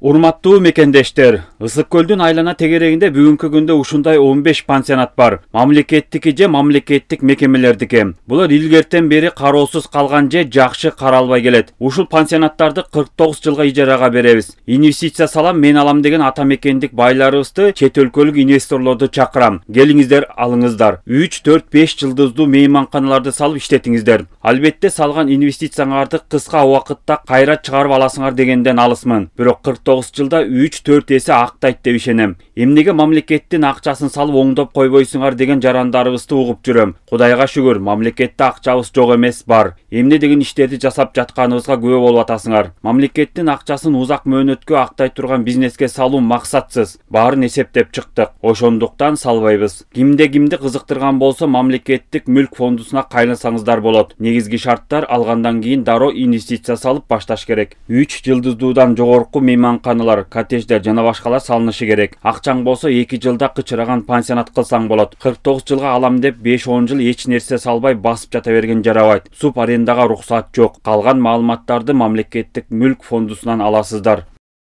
Урматтуу мекендештер, Ысык көлдүн айлана тегерегинде бүгүнкү күндө ушундай 15 пансионат бар. Мамлекеттики же мамлекеттик мекемелердики. Булар илгертен бери кароосуз калган же жакшы каралбай келет. Ушул пансионаттарды 49 жылга ижарага беребиз. Инвестиция салам, мен алам деген ата мекендик байларыбызды чет өлкөлүк инвесторлорду чакырам. Келиңиздер, алыңыздар. 3, 4, 5 жылдыздуу мейманканаларды салып иштетиңиздер. Албетте салган инвестицияңарды кыска убакытта кайра чыгарып аласыңар дегенден алысмын. Бирок 49 жылда 3-4 эсе актайт деп ишенем. Эмнеге мамлекеттин акчасын салып оңдоп койбойсуңар деген жарандарыбызды угуп жүрөм. Кудайга шүгүр, мамлекетте акчабыз жок эмес, бар. Эмне деген иштерди жасап жатканыбызга күбө болуп атасыңар. Мамлекеттин акчасын узак мөөнөткө актай турган бизнеске салуу максатсыз. Баарын эсептеп чыктык. Ошондуктан салбайбыз. Кимди кызыктырган болсо мамлекеттик мүлк фондусуна кайлансаңыздар болот. Негизги шарттар алгандан кийин дароо инвестиция салып башташ керек. 3 жылдыздуудан жогорку мейманканалар, коттедждер жана башкалар салынышы керек. Акчаң болсо 2 жылда кычыраган пансионат кылсаң болот. 49 жылга алам деп 5-10 жыл эч нерсе салбай басып жата берген жарабайт. Суб арендага уруксат жок. Калган маалыматтарды мамлекеттик мүлк фондусунан аласыздар.